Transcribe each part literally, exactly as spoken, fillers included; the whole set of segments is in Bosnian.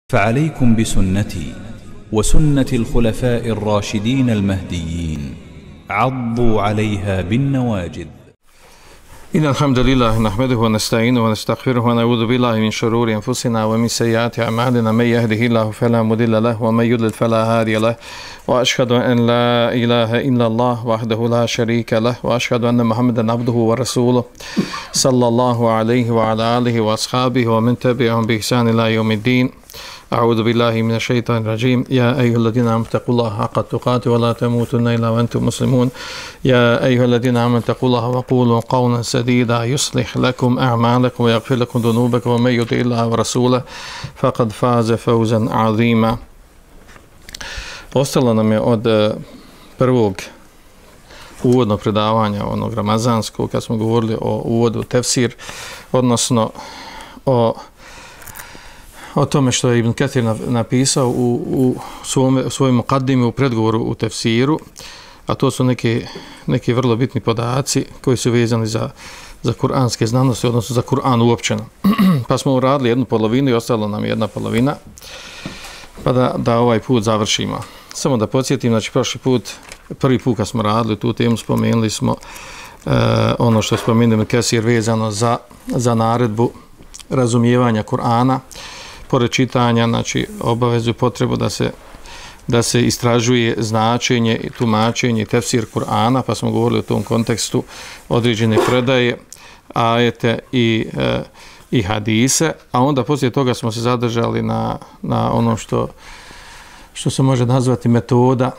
فعليكم بسنتي وسنة الخلفاء الراشدين المهديين عضوا عليها بالنواجذ. إن الحمد لله نحمده ونستعينه ونستغفره ونعوذ بالله من شرور أنفسنا ومن سيئات أعمالنا من يهده الله فلا مضل له ومن يضلل فلا هادي له وأشهد أن لا إله إلا الله وحده لا شريك له وأشهد أن محمدا عبده ورسوله صلى الله عليه وعلى آله وأصحابه ومن تبعهم بإحسان إلى يوم الدين. أعوذ بالله من الشيطان الرجيم. يا أيها الذين آمنوا اتقوا الله حق تقاته ولا تموتن إلا وأنتم مسلمون. يا أيها الذين آمنوا اتقوا الله وقولوا قولا سديدا يصلح لكم أعمالكم ويغفر لكم ذنوبكم ومن يطع الله ورسوله فقد فاز فوزا عظيما. Ostalo nam je od prvog uvodnog predavanja, onog ramazanskog, kad smo govorili o uvodu tefsir, odnosno o o tome što je Ibn Kathir napisao u, u svome, svojim mukaddimi u predgovoru u tefsiru, a to su neki, neki vrlo bitni podaci koji su vezani za, za kuranske znanosti, odnosno za Kur'an uopćeno. Pa smo uradili jednu polovinu i ostalo nam jedna polovina, pa da, da ovaj put završimo. Samo da podsjetim, znači prošli put, prvi put kad smo radili tu temu, spomenuli smo e, ono što je spomenuo Ibn Kathir vezano za, za naredbu razumijevanja Kur'ana, pored čitanja, znači obavezu potrebu da se da se istražuje značenje i tumačenje tefsir Kur'ana, pa smo govorili u tom kontekstu određene predaje, ajete i, e, i hadise, a onda poslije toga smo se zadržali na, na ono što, što se može nazvati metoda,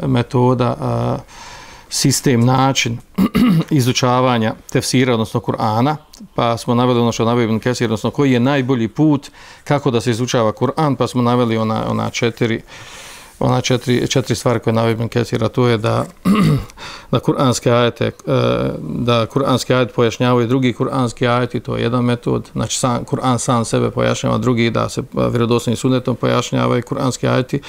metoda a, sistem, način izučavanja tefsira, odnosno Kur'ana, pa smo naveli ono što naveli Ibn Kathir, odnosno koji je najbolji put kako da se izučava Kur'an, pa smo naveli ona, ona četiri ona četiri, četiri stvari koje naveli Ibn Kathir, a to je da da kuranske ajete da kuranski ajet pojašnjavaju drugi kuranski ajeti, to je jedan metod, znači sam, Kur'an sam sebe pojašnjava, drugi da se vjerodostojnim sunnetom pojašnjavaju kuranski ajeti,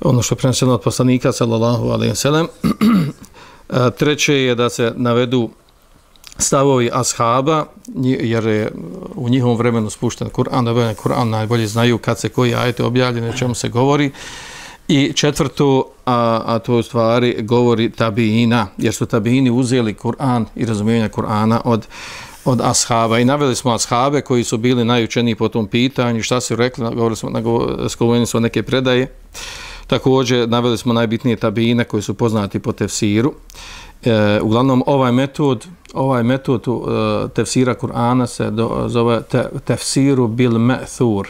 ono što je preneseno od poslanika sallallahu alejhi ve sellem. Treće je da se navedu stavovi ashaba, jer je u njihovom vremenu spušten Kur'an, da Kur'an najbolje znaju kad se koji ajet objavljen, o čemu se govori. I četvrto, a, a to u stvari govori tabiina, jer su tabiini uzeli Kur'an i razumijevanje Kur'ana od od ashaba i naveli smo ashabe koji su bili najučeniji po tom pitanju, šta su rekli, govorili smo, spomenuli smo neke predaje. Također naveli smo najbitnije tabiine koji su poznati po tefsiru. E, uglavnom ovaj metod, ovaj metod uh, tefsira Kur'ana se do, zove te, tefsiru bil ma'thur,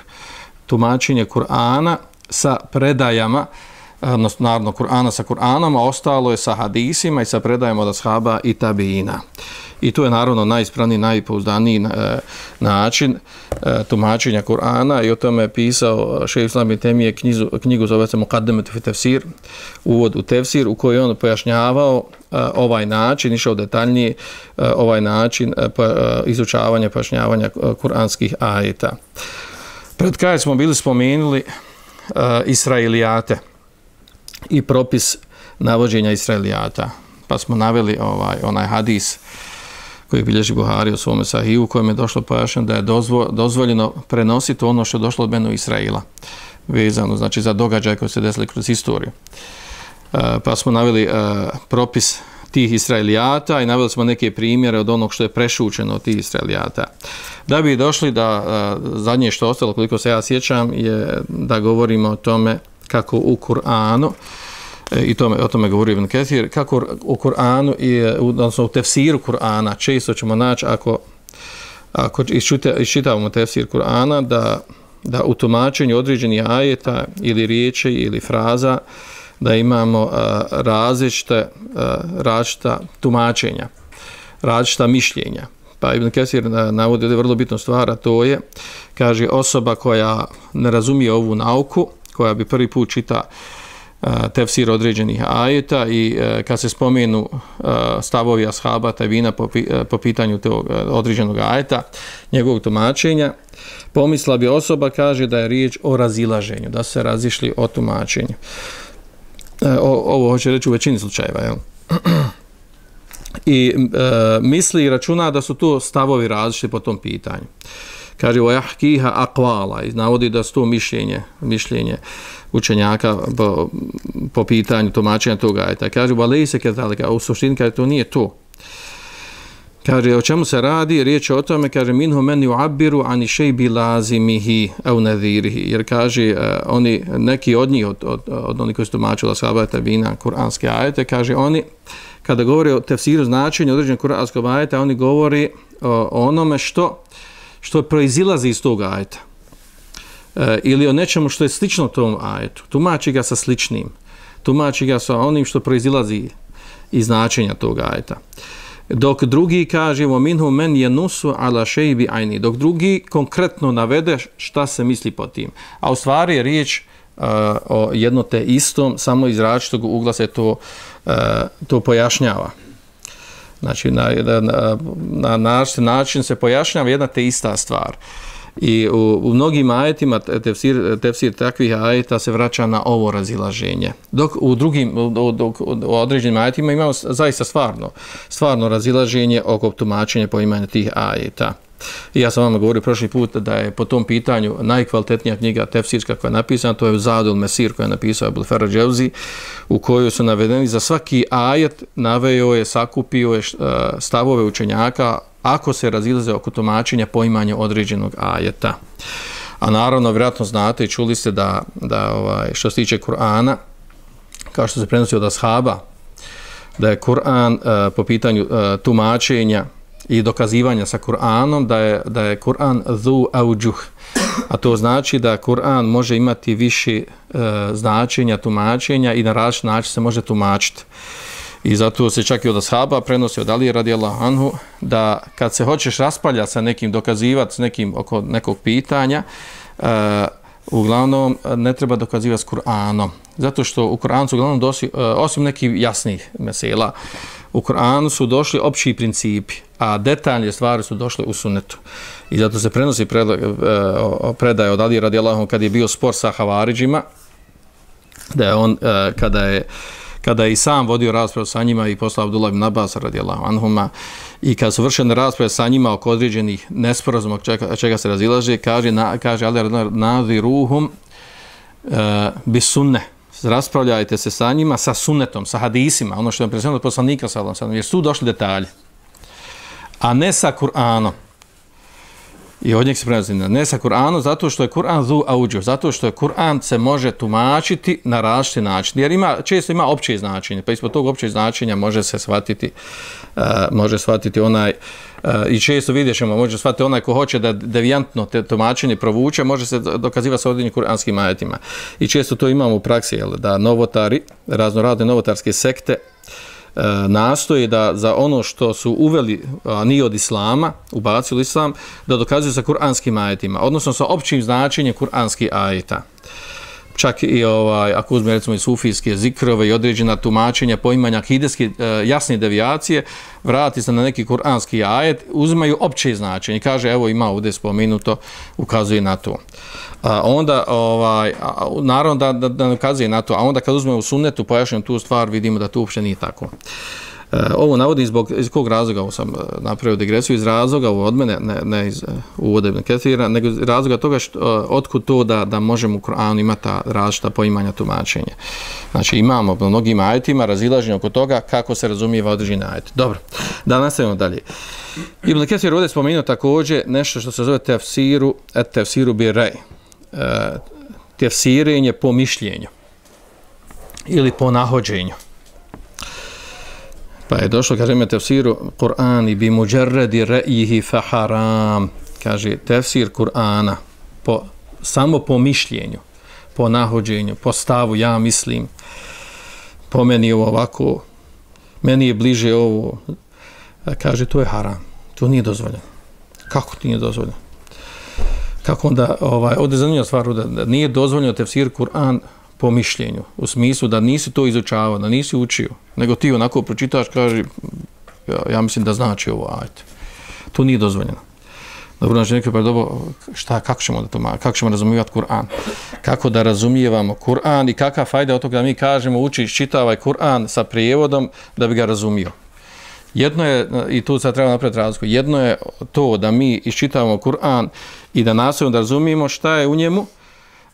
tumačenje Kur'ana sa predajama, odnosno naravno Kur'ana sa Kur'anom, a ostalo je sa hadisima i sa predajama od ashaba i tabiina. I to je naravno najispravniji, najpouzdaniji e, način e, tumačenja Kur'ana i o tome je pisao šejh Islam ibn Temije knjigu, knjigu zove se Muqaddimet fi tefsir, uvod u tefsir, u kojoj on pojašnjavao e, ovaj način, išao detaljnije e, ovaj način e, pa, e, izučavanja, pojašnjavanja kuranskih ajeta. Pred kraj smo bili spomenuli e, Israilijate i propis navođenja Israilijata, pa smo naveli ovaj onaj hadis koji bilježi Buhari u svome Sahiju, u kojem je došlo pojašnjeno da je dozvo, dozvoljeno prenositi ono što je došlo od Benu Israila, vezano znači za događaje koji se desili kroz historiju. E, pa smo naveli e, propis tih Israilijata i naveli smo neke primjere od onog što je prešućeno od tih Israilijata. Da bi došli da e, zadnje što ostalo, koliko se ja sjećam, je da govorimo o tome kako u Kur'anu, i tome, o tome govori Ibn Kathir, kako u Kur'anu i odnosno u tefsiru Kur'ana često ćemo naći, ako, ako iščitavamo tefsir Kur'ana, da, da u tumačenju određenih ajeta ili riječi ili fraza da imamo uh, različite, uh, različita tumačenja, različita mišljenja. Pa Ibn Kathir navodi da je vrlo bitna stvar, a to je, kaže, osoba koja ne razumije ovu nauku, koja bi prvi put čita tefsir određenih ajeta i e, kad se spomenu e, stavovi ashaba tabina po, po pitanju tog određenog ajeta, njegovog tumačenja, pomisla bi osoba, kaže, da je riječ o razilaženju, da se razišli o tumačenju. E, o, ovo hoće reći u većini slučajeva, jel? I e, misli i računa da su to stavovi različiti po tom pitanju. Kaže wa yahkiha aqwala, i navodi da sto mišljenje, mišljenje učenjaka po, po pitanju tumačenja toga ajeta. Kaže wa laysa kadhalika, u suštini kaže to nije to. Kaže, o čemu se radi? Riječ je o tome, kaže, minhu men yu'abbiru ani shaybi lazimihi au nadhirihi. Jer kaže, uh, oni, neki od njih, od, od, od onih koji su tumačili ashaba tabina, kuranske ajete, kaže, oni, kada govore o tefsiru značenja određenog kuranskog ajeta, oni govori o, o onome što, što proizilazi iz tog ajeta. Uh, ili o nečemu što je slično tom ajetu. Tumači ga sa sličnim. Tumači ga sa onim što proizilazi iz značenja tog ajeta. Dok drugi kaže minhu men yanusu ala shaybi aini, dok drugi konkretno navede šta se misli pod tim. A u stvari je riječ uh, o jedno te istom, samo iz različitog ugla se to, uh, to pojašnjava. Znači na jedan na, na način se pojašnjava jedna te ista stvar. I u, u mnogim ajetima tefsir, tefsir takvih ajeta se vraća na ovo razilaženje. Dok u drugim, u, dok, u određenim ajetima imamo zaista stvarno, stvarno razilaženje oko tumačenja poimanja tih ajeta. I ja sam vam govorio prošli put da je po tom pitanju najkvalitetnija knjiga tefsirska koja je napisana, to je Zadul Mesir koja je napisao Ibn Faraj Dževzi, u kojoj su navedeni za svaki ajet, naveo je, sakupio je stavove učenjaka ako se razilaze oko tumačenja poimanja određenog ajeta. A naravno, vjerojatno znate i čuli ste da, da ovaj, što se tiče Kur'ana, kao što se prenosi od ashaba, da je Kur'an uh, po pitanju uh, tumačenja i dokazivanja sa Kur'anom, da je, da je Kur'an dhu auđuh. A to znači da Kur'an može imati više uh, značenja, tumačenja i na različit način se može tumačiti. I zato se čak i od ashaba prenosi od Alije radijallahu anhu da kad se hoćeš raspaljati sa nekim, dokazivati s nekim oko nekog pitanja, uh, uglavnom ne treba dokazivati s Kur'anom. Zato što u Kur'anu su uglavnom došli, uh, osim nekih jasnih mesela, u Kur'anu su došli opći principi, a detaljne stvari su došle u sunnetu. I zato se prenosi predaj, uh, predaj od Alije radijallahu anhu kad je bio spor sa Havaridžima, da je on, uh, kada je kada je i sam vodio raspravu sa njima i poslao Abdullah ibn Abbas radijallahu anhuma, i kad su vršene rasprave sa njima oko određenih nesporazuma čega, čega se razilaže, kaže, na, kaže Ali nadhiruhum uh, bis sunne, raspravljajte se sa njima sa sunnetom, sa hadisima, ono što je predsjedno od poslanika sallallahu alejhi ve sellem, jer su došli detalji, a ne sa Kur'anom. I od njeg se prenosi ne sa Kur'anom, zato što je Kur'an dhu auđuh, zato što je Kur'an se može tumačiti na različiti način, jer ima, često ima opće značenje, pa ispod tog općeg značenja može se shvatiti, uh, može shvatiti onaj, uh, i često vidjet ćemo, može shvatiti onaj ko hoće da devijantno te tumačenje provuče, može se dokazivati sa određenim kuranskim ajetima. I često to imamo u praksi, jel, da novotari, raznorazne novotarske sekte, nastoji da za ono što su uveli, a nije od islama, ubacili islam, da dokazuju sa kuranskim ajetima, odnosno sa općim značenjem kuranskih ajeta. Čak i ovaj, ako uzme recimo i sufijske zikrove i određena tumačenja, poimanja akideske jasne devijacije, vrati se na neki kuranski ajet, uzimaju opće značenje. Kaže, evo ima ovdje spomenuto, ukazuje na to. A onda, ovaj, a, naravno da, da, da ukazuje na to, a onda kad uzmemo u sunnetu, pojašnjamo tu stvar, vidimo da to uopće nije tako. E, ovo navodim zbog, iz kog razloga, ovo sam napravio digresiju, iz razloga, ovo od mene, ne, ne iz uvode Ibn Kathira, nego iz razloga toga što, otkud to da, da možemo u Kur'anu imati ta različita poimanja tumačenja. Znači imamo u mnogim ajetima razilaženje oko toga kako se razumijeva određeni ajet. Dobro, da nastavimo dalje. Ibn Kathir ovdje spomenuo također nešto što se zove tefsiru, et tefsiru bi rej. E, tefsirenje po mišljenju ili po nahođenju. Pa je došlo, kaže me tefsiru Kur'ani bi muđerredi re'ihi fa haram. Kaže, tefsir Kur'ana po, samo po mišljenju, po nahođenju, po stavu, ja mislim, po meni je ovako, meni je bliže ovo. Kaže, to je haram, to nije dozvoljeno. Kako ti nije dozvoljeno? Kako onda, ovaj, ovdje je zanimljiva stvar, da, da nije dozvoljeno tefsir Kur'an po mišljenju, u smislu da nisi to izučavao, da nisi učio, nego ti onako pročitaš, kaže, ja, ja mislim da znači ovo, ajte. To nije dozvoljeno. Dobro, znači neko pa dobro, šta, kako ćemo da to, kako ćemo razumijevati Kur'an? Kako da razumijevamo Kur'an i kakva fajda od toga da mi kažemo uči, čitavaj Kur'an sa prijevodom da bi ga razumio. Jedno je, i tu sad treba napraviti razliku, jedno je to da mi iščitavamo Kur'an i da nastavimo da razumijemo šta je u njemu.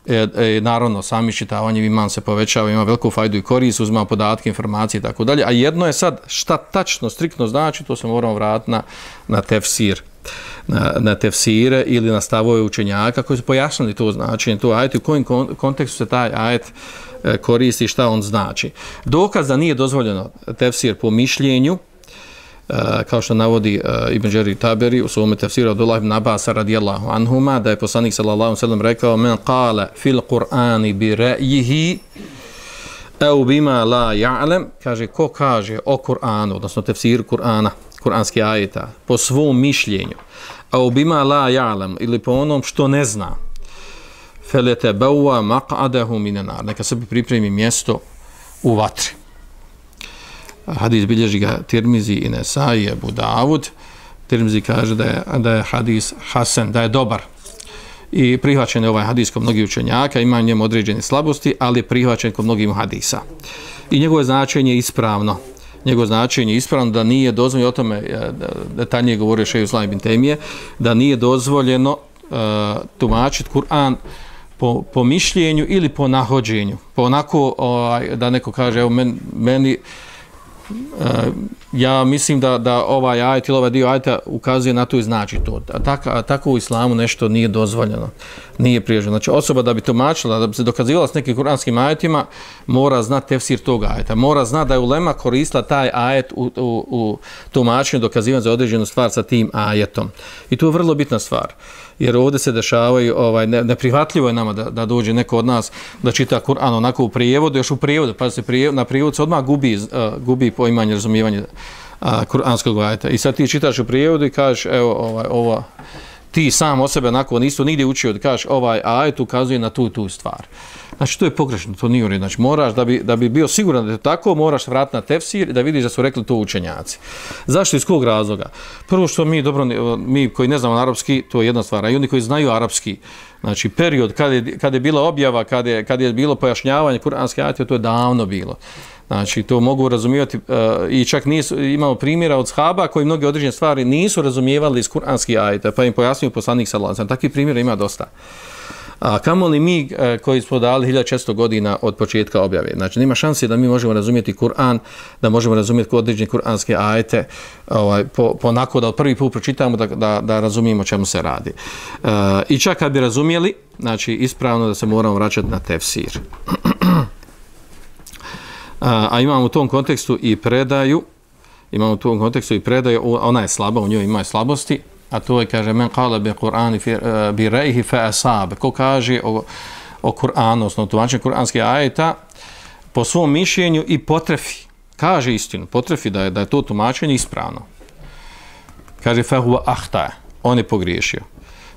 E, e, naravno, sami iščitavanjem iman se povećava, ima veliku fajdu i korist, uzima podatke, informacije i tako dalje. A jedno je sad šta tačno, striktno znači, to se moramo vratiti na, na tefsir. Na, na tefsire ili na stavove učenjaka koji su pojasnili to značenje, to ajet, u kojem kontekstu se taj ajet e, koristi, šta on znači. Dokaz da nije dozvoljeno tefsir po mišljenju, e, kao što navodi e, Ibn Đerir Taberi u svome tefsiru Abdullah ibn Abasa radijallahu anhuma, da je poslanik sallallahu alejhi ve sellem rekao: "Men qala fil Qur'ani bi ra'yihi aw bima la ya'lam", kaže ko kaže o Kur'anu, odnosno tefsiru Kur'ana, kuranski ajeta, po svom mišljenju, a ubima la ja'lam, ili po onom što ne zna, feletebawa maq'adahu minan nar, neka sebi pripremi mjesto u vatri. Hadis bilježi ga Tirmizi i Nesai, Abu Davud. Tirmizi kaže da je, da je hadis hasan, da je dobar. I prihvaćen je ovaj hadis kod mnogih učenjaka, ima njemu određene slabosti, ali je prihvaćen kod mnogih hadisa. I njegovo značenje je ispravno. Njegovo značenje je ispravno, da nije dozvoljeno, o tome detaljnije govorio Šejh Islam ibn Tejmije, da nije dozvoljeno uh, tumačiti Kur'an po, po mišljenju ili po nahođenju. Po onako uh, da neko kaže, evo men, meni, uh, ja mislim da, da ovaj ajet ili ovaj dio ajeta ukazuje na to i znači to. A, tak, a tako u islamu nešto nije dozvoljeno, nije priježeno. Znači osoba da bi tumačila, da bi se dokazivala s nekim kuranskim ajetima, mora znati tefsir tog ajeta. Mora znati da je ulema koristila taj ajet u, u, u tumačenju, dokazivanju za određenu stvar sa tim ajetom. I to je vrlo bitna stvar. Jer ovdje se dešavaju, ovaj, neprihvatljivo je nama da, da dođe neko od nas da čita Kur'an onako u prijevodu, još u prijevodu, pa se prijevod, na prijevodu se odmah gubi, uh, gubi poimanje, razumijevanje uh, kuranskog ajeta. I sad ti čitaš u prijevodu i kažeš, evo, ovaj, ovo, ti sam o sebe onako nisu nigdje učio da kažeš ovaj ajet ukazuje na tu tu stvar. Znači to je pogrešno, to nije u redu. Znači moraš da bi, da bi bio siguran da je tako, moraš vratiti na tefsir i da vidiš da su rekli to učenjaci. Zašto, iz kog razloga? Prvo što mi dobro, mi koji ne znamo arapski, to je jedna stvar, a i oni koji znaju arapski, znači period kad je, kad je bila objava, kad je, kad je bilo pojašnjavanje kuranske ajete, to je davno bilo. Znači to mogu razumijevati uh, i čak nisu, imamo primjera od shaba koji mnoge određene stvari nisu razumijevali iz kuranskih ajeta, pa im pojasnio poslanik sallallahu alejhi ve sellem. Takvih primjera ima dosta. A kamoli mi uh, koji smo dali hiljadu četiristo godina od početka objave. Znači nema šanse da mi možemo razumjeti Kur'an, da možemo razumjeti određene kuranske ajete, ovaj, po, po onako da od prvi put pročitamo da, da, da razumijemo čemu se radi. Uh, I čak kad bi razumjeli, znači ispravno da se moramo vraćati na tefsir. A, a imamo u tom kontekstu i predaju, imamo u tom kontekstu i predaju, ona je slaba, u njoj ima slabosti, a to je, kaže, men qala bi Kur'ani bi ra'yihi fa asab, ko kaže o, o Kur'anu, odnosno tumačenju kuranskih ajeta po svom mišljenju i potrefi, kaže istinu, potrefi da je, da je to tumačenje ispravno. Kaže, fa huwa ahta, on je pogriješio.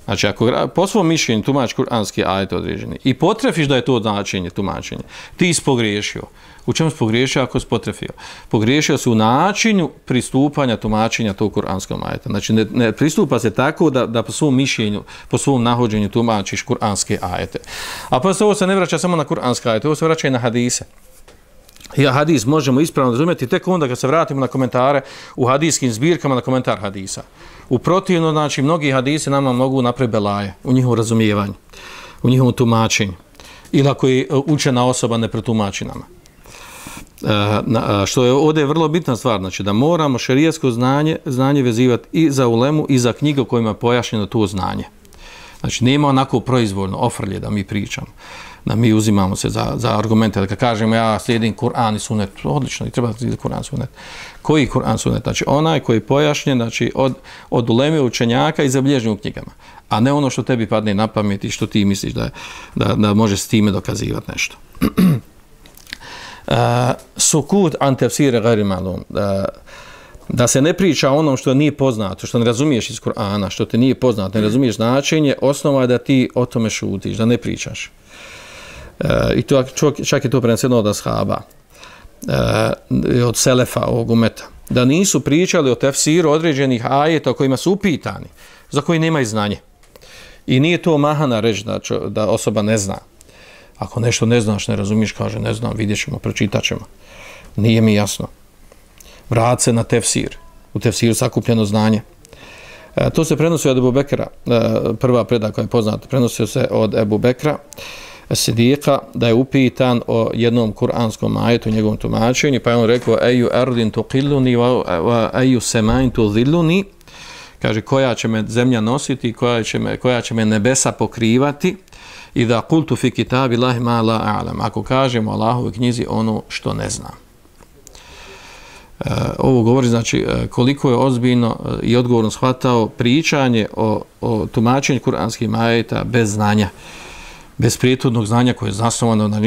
Znači, ako po svom mišljenju tumači kuranski ajet određeni i potrefiš da je to značenje, tumačenje, ti si pogriješio. U čemu si pogriješio ako si potrefio? Pogriješio si u načinu pristupanja tumačenja tog kuranskog ajeta. Znači, ne, ne pristupa se tako da, da po svom mišljenju, po svom nahođenju tumačiš kuranske ajete. A pa ovo se ne vraća samo na kuranske ajete, ovo se vraća i na hadise. I hadis možemo ispravno razumjeti tek onda kad se vratimo na komentare u hadijskim zbirkama na komentar hadisa. U protivno, znači, mnogi hadisi nama mogu napraviti belaje u njihovom razumijevanju, u njihovom tumačenju. Ili ako je učena osoba ne pretumači nama. E, na, što je ovdje vrlo bitna stvar, znači da moramo šerijatsko znanje, znanje vezivati i za ulemu i za knjige u kojima je pojašnjeno to znanje. Znači nema onako proizvoljno ofrlje da mi pričamo, da mi uzimamo se za, za argumente, da kad kažemo ja slijedim Kur'an i sunet, odlično, i treba slijediti Kur'an i sunet. Koji Kur'an sunet? Znači onaj koji je pojašnjen, znači od, od uleme učenjaka i zabilježen u knjigama, a ne ono što tebi padne na pamet i što ti misliš da, da, da može s time dokazivati nešto. Uh, sukut an tefsire gajri malum, da, da se ne priča o onom što nije poznato, što ne razumiješ iz Kur'ana, što te nije poznato, ne razumiješ značenje, osnova je da ti o tome šutiš, da ne pričaš. Uh, I to, čak je to preneseno od ashaba, uh, od selefa, ovog umeta, da nisu pričali o tefsiru određenih ajeta o kojima su upitani, za koji nemaju znanje. I nije to mahana reći da, da osoba ne zna. Ako nešto ne znaš, ne razumiješ, kaže ne znam, vidjet ćemo, pročitat ćemo. Nije mi jasno. Vrat se na tefsir. u tefsiru sakupljeno znanje. E, to se prenosi od Ebu Bekra, e, prva predaja koja je poznata, prenosio se od Ebu Bekra Sidika, da je upitan o jednom kuranskom ajetu, njegovom tumačenju, pa je on rekao eju ardin tuqilluni wa eju semain tudhilluni, kaže koja će me zemlja nositi, koja će me, koja će me nebesa pokrivati, i da kultu fi kitabi lahi ma la a'lam, ako kažemo Allahovoj knjizi ono što ne znam. E, ovo govori znači koliko je ozbiljno i odgovorno shvatao pričanje o, o tumačenju kuranskih ajeta bez znanja, bez prijethodnog znanja koje je zasnovano na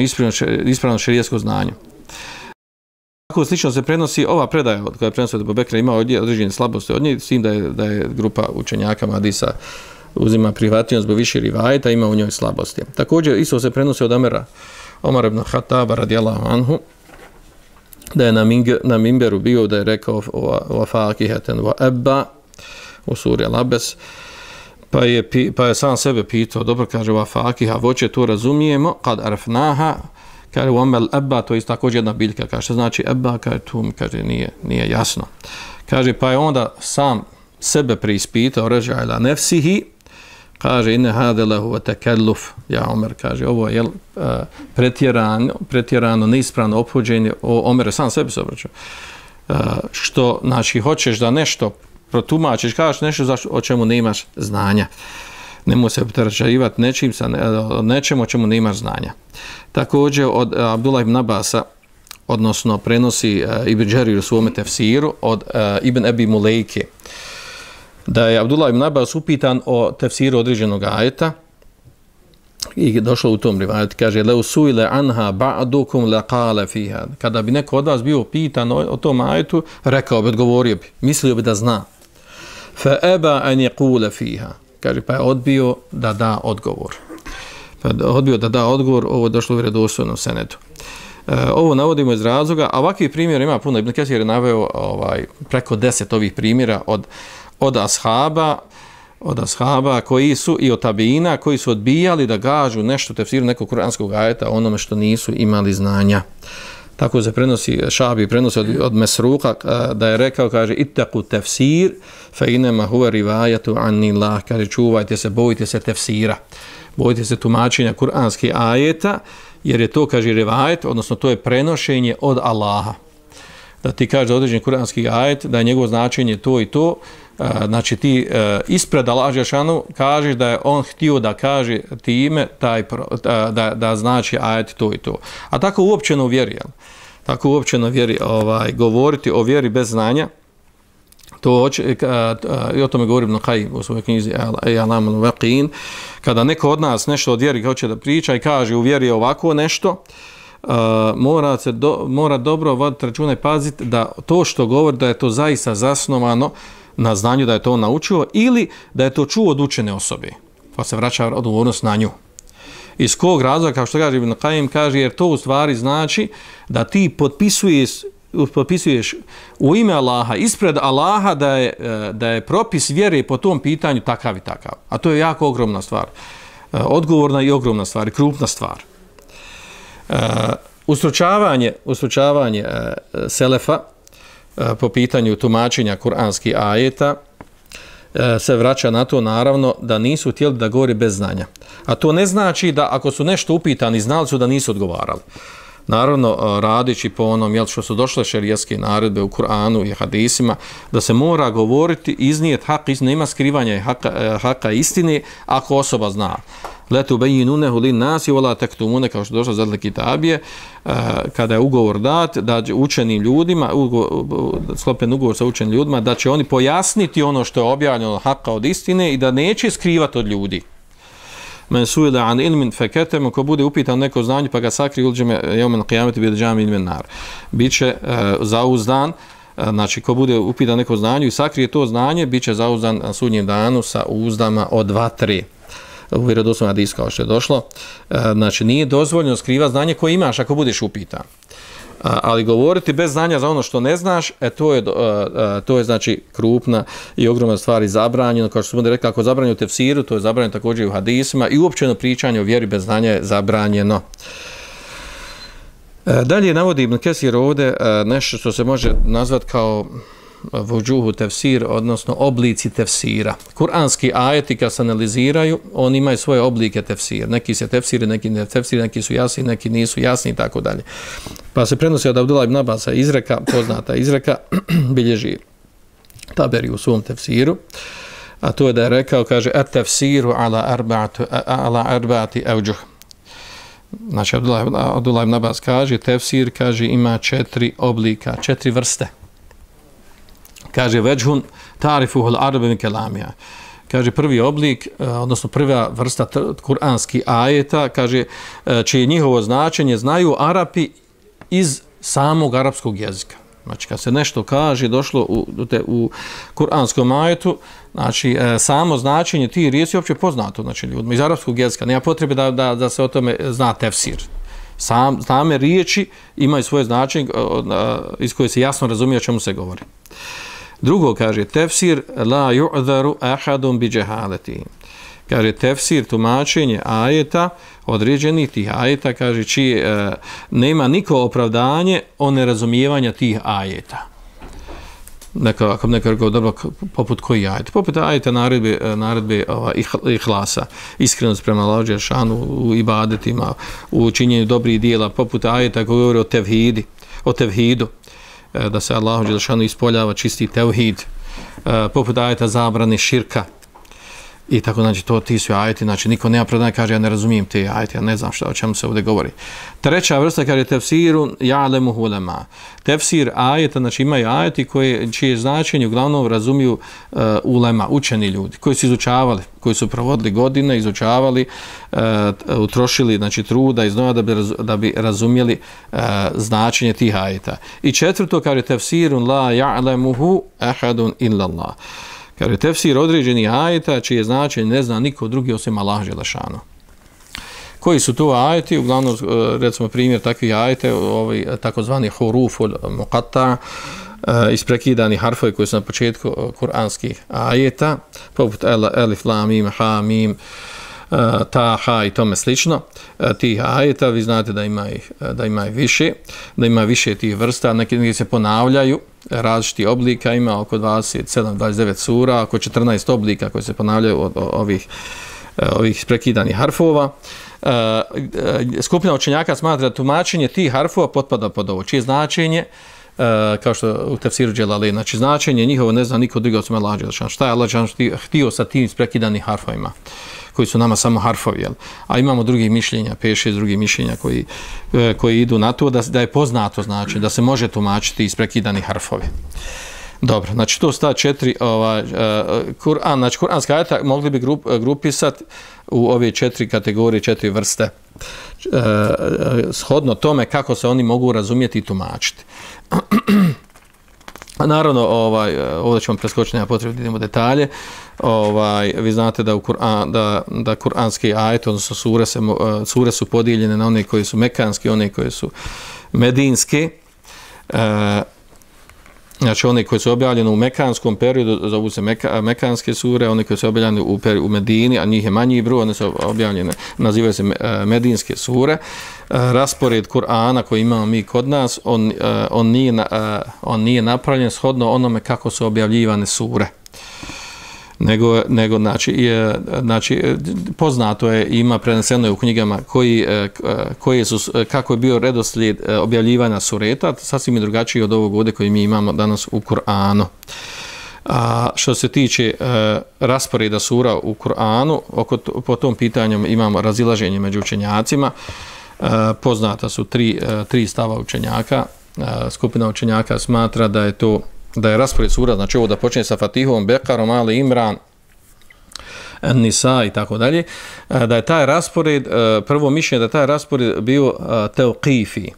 ispravno šerijatsko znanje. Tako slično se prenosi ova predaja od koja je prenosio od Ebu Bekra, ima određene slabosti od nje, s tim da je, da je grupa učenjaka hadisa uzima prihvatljivost zbog više rivajeta, ima u njoj slabosti. Također isto se prenosi od Omera, Omar ibn Khattaba radijallahu anhu, da je na, ming, na mimberu bio, da je rekao wa fakihatan wa abba u suri Al-Abes, pa je, pa je sam sebe pitao, dobro kaže wa fakiha, voće to razumijemo, kad arfnaha, kaže u omel abba, to je također jedna biljka, kaže što znači abba, kaže tu mi kaže nije, nije jasno. Kaže pa je onda sam sebe preispitao, ređa ila nefsihi, kaže inne hade lehu tekelluf, ja Omer, kaže ovo je uh, pretjerano, pretjerano, neispravno ophođenje, o Omer sam sebi se obraćao, uh, što znači hoćeš da nešto protumačiš, kažeš nešto za o čemu nemaš znanja. Nemoj se opterećivati nečim sa nečem o čemu nemaš znanja. Također od Abdullah ibn Abasa, odnosno prenosi uh, Ibn Đerir u svome tefsiru od uh, Ibn Ebi Mulejke, da je Abdullah ibn Abbas upitan o tefsiru određenog ajeta i došlo u tom rivajetu, kaže leu suile anha ba'dukum laqala fiha, kada bi neko od vas bio pitan o, o tom ajetu, rekao bi, odgovorio bi, mislio bi da zna. Fa aba an yaqula fiha, kaže pa je odbio da da odgovor. Pa je odbio da da odgovor, ovo je došlo u vjerodostojnom senedu. E, ovo navodimo iz razloga, a ovakvih primjera ima puno. Ibn Kesir je naveo ovaj, preko deset ovih primjera od od ashaba, od ashaba koji su i od tabina koji su odbijali da gažu nešto tefsiru nekog kuranskog ajeta onome što nisu imali znanja. Tako se prenosi, Šabi prenosi od, od Mesruka da je rekao, kaže ittaku tefsir fa inema huwa rivayatu anillah, kaže čuvajte se, bojite se tefsira, bojite se tumačenja kuranskih ajeta, jer je to, kaže, rivajet, odnosno to je prenošenje od Allaha. Da ti kaže određeni kuranski ajet, da je njegovo značenje to i to, znači ti ispred Allaha dželešanu kažeš da je on htio da kaže time taj, da, da znači ajet to i to. A tako uopćeno vjeri, tako uopćeno vjeri ovaj, govoriti o vjeri bez znanja, to hoće, i o tome govorim Ibn Qayyim u svojoj knjizi I'lam al-Waqin, kada neko od nas nešto od vjeri hoće da priča i kaže u vjeri je ovako nešto, Uh, mora se do, mora dobro voditi računa i paziti da to što govori da je to zaista zasnovano na znanju, da je to naučio ili da je to čuo od učene osobe, pa se vraća odgovornost na nju. Iz kog razloga, kao što kaže Ibn Qayyim, kaže jer to u stvari znači da ti potpisuješ, potpisuješ u ime Allaha, ispred Allaha da je, da je propis vjere po tom pitanju takav i takav. A to je jako ogromna stvar. Odgovorna i ogromna stvar, krupna stvar. Uh, ustručavanje, ustručavanje uh, selefa uh, po pitanju tumačenja kuranskih ajeta uh, se vraća na to naravno da nisu htjeli da govori bez znanja. A to ne znači da ako su nešto upitani znali su da nisu odgovarali. Naravno, uh, radići po onom jel, što su došle šerijatske naredbe u Kur'anu i hadisima, da se mora govoriti, iznijeti hak, nema skrivanja haka, haka istine ako osoba zna. Letu bejinunehu lin nasi wala taktumune, kao što došlo zadle kitabije, kada je ugovor dat da učenim ljudima, ugovor, sklopljen ugovor sa učenim ljudima, da će oni pojasniti ono što je objavljeno haka od istine i da neće skrivati od ljudi. Men suila an ilmin fakatama, ko bude upitan neko znanje pa ga sakri uđeme jevmen qiyameti bil džami min nar. Biće uh, zauzdan, uh, znači ko bude upitan neko znanje i sakrije to znanje, biće zauzdan na sudnjem danu sa uzdama od vatre. U vjerodostojnom hadisu kao što je došlo. Uh, znači nije dozvoljeno skrivati znanje koje imaš ako budeš upitan. Uh, ali govoriti bez znanja za ono što ne znaš, e, to, je, uh, uh, to je znači krupna i ogromna stvar i zabranjeno. Kao što smo rekli, ako je zabranjeno u tefsiru, to je zabranjeno također i u hadisima i uopćeno pričanje o vjeri bez znanja je zabranjeno. Uh, dalje navodi Ibn Kesir ovdje uh, nešto što se može nazvati kao vuđuhu tefsir, odnosno oblici tefsira. Kur'anski ajeti kad se analiziraju, oni imaju svoje oblike tefsira. Neki se tefsiri, neki ne tefsiri, neki su jasni, neki nisu jasni i tako dalje. Pa se prenosi od Abdullah ibn Abasa izreka, poznata izreka, bilježi Taberi u svom tefsiru, a to je da je rekao, kaže, et tefsiru ala arba'ati ala arba'ati evđuh. Znači, Abdullah, Abdullah ibn Abbas kaže, tefsir, kaže, ima četiri oblika, četiri vrste. Kaže, veđhun tarifuhul arabi min kelamija. Kaže, prvi oblik, odnosno prva vrsta kuranskih ajeta, kaže, čije njihovo značenje znaju Arapi iz samog arapskog jezika. Znači, kad se nešto kaže, došlo u, u kuranskom ajetu, znači, e, samo značenje tih riječi je uopće poznato, znači, ljudima iz arapskog jezika. Nema potrebe da, da, da se o tome zna tefsir. Sam, same riječi imaju svoje značenje iz koje se jasno razumije o čemu se govori. Drugo, kaže, tefsir la yu'dharu ahadun bi jahalati. Kaže, tefsir, tumačenje ajeta, određenih tih ajeta, kaže, čiji e, nema niko opravdanje o nerazumijevanja tih ajeta. Neka, ako neko rekao, dobro, poput koji ajet? Poput ajeta naredbe, naredbe ova, ihlasa, iskrenost prema Allahu dželešanu u ibadetima, u činjenju dobrih dijela, poput ajeta koji govori o tevhidi, o tevhidu, e, da se Allahu dželešanu ispoljava čisti tevhid, e, poput ajeta zabrane širka, i tako, znači, to ti su ajeti, znači, niko nema opravdanja, kaže, ja ne razumijem te ajeti, ja ne znam šta, o čemu se ovdje govori. Treća vrsta, kaže, tefsiru ja'lemu ulema. Tefsir ajeta, znači, imaju ajeti koje, čije značenje uglavnom razumiju uh, ulema, učeni ljudi, koji su izučavali, koji su provodili godine, izučavali, uh, utrošili, znači, truda i znova da bi, raz, da bi razumjeli uh, značenje tih ajeta. I četvrto, kaže, tefsirun la ja'lemuhu ahadun illallah. Kaže, tefsir određeni ajeta čije značenje ne zna niko drugi osim Allah dželešanu. Koji su to ajeti? Uglavnom, recimo, primjer takvih ajeta, ovaj, takozvani huruful muqatta, isprekidani harfovi koji su na početku kuranskih ajeta, poput elif, lam, mim, ha, mim, ta, ha i tome slično, tih ajeta, vi znate da ima ih, da ima ih više, da ima više tih vrsta, neki, neki se ponavljaju, različiti oblika, ima oko dvadeset sedam dvadeset devet sura, oko četrnaest oblika koji se ponavljaju od ovih, ovih prekidanih harfova. Skupina učenjaka smatra da tumačenje tih harfova potpada pod ovo, čije značenje, kao što u tefsiru Dželali, znači značenje njihovo ne zna niko drugi osim Allah dželešanu. Šta je Allah dželešanu htio sa tim prekidanih harfovima, koji su nama samo harfovi, jel? A imamo drugih mišljenja, pet šest drugih mišljenja koji, koji idu na to da, da je poznato, znači da se može tumačiti isprekidani harfovi. Dobro, znači to sta četiri, ovaj, uh, Kur'an, znači kuranska ajeta mogli bi grup, grupisati u ove četiri kategorije, četiri vrste, uh, shodno tome kako se oni mogu razumjeti i tumačiti. A naravno, ovaj, ovdje ćemo preskočiti, nema potrebe da idemo detalje. Ovaj, vi znate da, u Kur'an, da, da kuranski ajet, odnosno sure, se, sure su podijeljene na one koje su mekanske, one koje su medinske. E, znači, one koje su objavljene u mekanskom periodu, zovu se meka, mekanske sure, one koje su objavljene u, u Medini, a njih je manji broj, one su objavljene, nazivaju se medinske sure. Raspored Kur'ana koji imamo mi kod nas, on, on, nije, on nije napravljen shodno onome kako su objavljivane sure. Nego, nego znači, je, znači, poznato je, ima preneseno je u knjigama koji, koji su, kako je bio redoslijed objavljivanja sureta, sasvim je drugačiji od ovog ovdje koji mi imamo danas u Kur'anu. A što se tiče e, rasporeda sura u Kur'anu, oko to, po tom pitanju imamo razilaženje među učenjacima. E, poznata su tri, e, tri stava učenjaka. E, skupina učenjaka smatra da je to da je raspored sura, znači ovo da počne sa Fatihom, Bekarom, Ali Imran, Nisa i tako dalje, da je taj raspored, prvo mišljenje da je taj raspored bio tevqifi.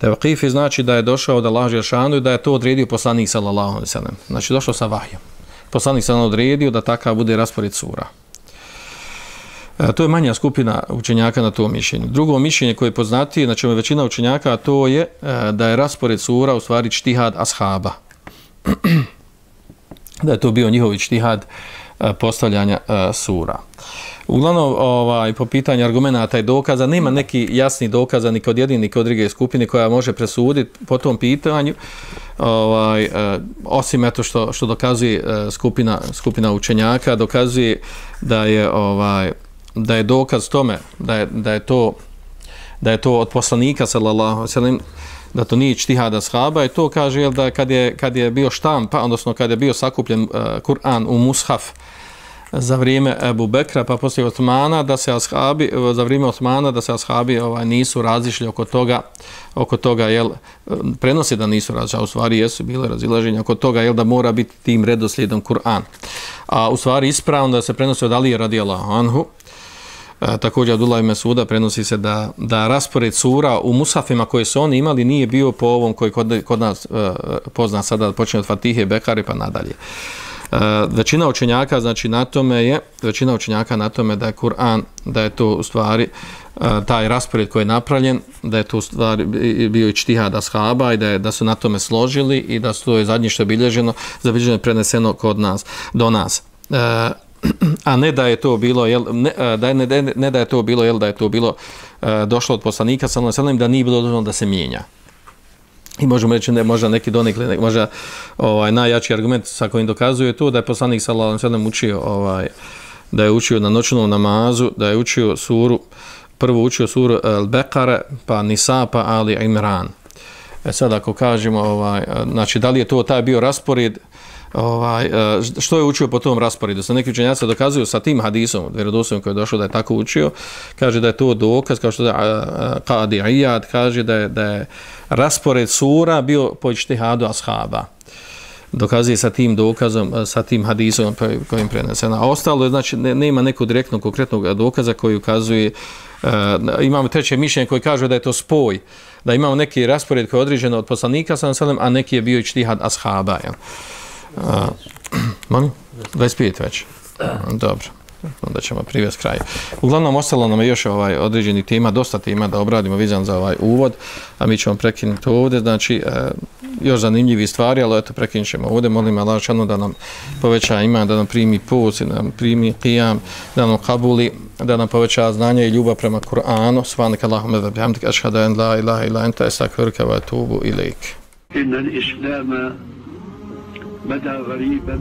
Tevqifi znači da je došao od Allaha dželešanu i da je to odredio poslanik sallallahu alejhi ve sellem. Znači došao sa vahjem. Poslanik sallallahu odredio da takav bude raspored sura. To je manja skupina učenjaka na to mišljenje. Drugo mišljenje koje je poznatije, znači većina učenjaka, to je da je raspored sura u stvari ijtihad ashaba. Da je to bio njihov ijtihad postavljanja sura. Uglavnom, ovaj, po pitanju argumenata i dokaza, nema neki jasni dokaza ni kod jedne ni kod druge skupine koja može presuditi po tom pitanju, ovaj, eh, osim eto što, što dokazuje eh, skupina, skupina učenjaka, dokazuje da je, ovaj, da je dokaz tome, da je, da je to da je to od poslanika sallallahu alejhi ve sellem, da to nije ijtihad ashaba, i to kaže jel, da kad je, kad je bio štampa, odnosno kad je bio sakupljen uh, Kur'an u mushaf za vrijeme Ebu Bekra, pa poslije Osmana, da se ashabi, za vrijeme Osmana, da se ashabi ovaj, nisu razišli oko toga, oko toga, jel, prenosi da nisu razišli, a u stvari jesu bile razilaženja oko toga, jel, da mora biti tim redoslijedom Kur'an. A u stvari ispravno da se prenosi od Alije radijallahu anhu. E, također Abdullah ibn Mesuda prenosi se da, da raspored sura u musafima koje su oni imali nije bio po ovom koji kod, kod nas e, pozna sada, počinje od Fatihe, Bekare pa nadalje. E, većina učenjaka znači na tome je, većina učenjaka na tome da je Kur'an, da je to u stvari e, taj raspored koji je napravljen, da je to u stvari bio ijtihad ashaba i da, je, da su na tome složili i da su to je zadnje što je bilježeno, zabilježeno preneseno kod nas, do nas. E, a ne da je to bilo jel, ne, da, ne, ne, ne da je to bilo jel, da je to bilo uh, došlo od poslanika sallallahu alejhi ve sellem, da nije bilo dozvoljeno da se mijenja. I možemo reći da možda neki donekle, možda ovaj najjači argument sa kojim dokazuje to da je poslanik sallallahu alejhi ve sellem učio ovaj da je učio na noćnom namazu, da je učio suru, prvo učio suru Al-Beqara, pa Nisa, pa Ali Imran. E sad ako kažemo ovaj znači da li je to taj bio raspored, ovaj što je učio po tom rasporedu, sa neki učenjaci dokazuju sa tim hadisom vjerodostojnim koji je došao da je tako učio, kaže da je to dokaz, kao što je Qadi Iyad kaže da je, da je raspored sura bio po ijtihadu ashaba, dokazuje sa tim dokazom, sa tim hadisom kojim preneseno. A ostalo je, znači ne, nema nekog direktnog konkretnog dokaza koji ukazuje. Uh, imamo treće mišljenje koji kaže da je to spoj, da imamo neki raspored koji je određen od poslanika sallallahu alejhi ve sellem, a neki je bio ijtihad ashaba, jel? Uh, molim? dvadeset pet već. Dobro. Onda ćemo privesti kraju. Uglavnom, ostalo nam je još ovaj određeni tema, dosta tema da obradimo vizan za ovaj uvod, a mi ćemo prekinuti ovdje. Znači, uh, još zanimljivi stvari, ali eto, prekinut ćemo ovdje. Molim Allah šanu da nam poveća iman, da nam primi put, da nam primi qiyam, da nam kabuli, da nam poveća znanje i ljubav prema Kur'anu. Subhanaka Allahumma wa bihamdika, ashhadu an la ilaha illa anta, astaghfiruka wa atubu ilaik. Inna al-islama bada ghariban.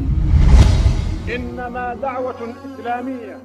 إنما دعوة إسلامية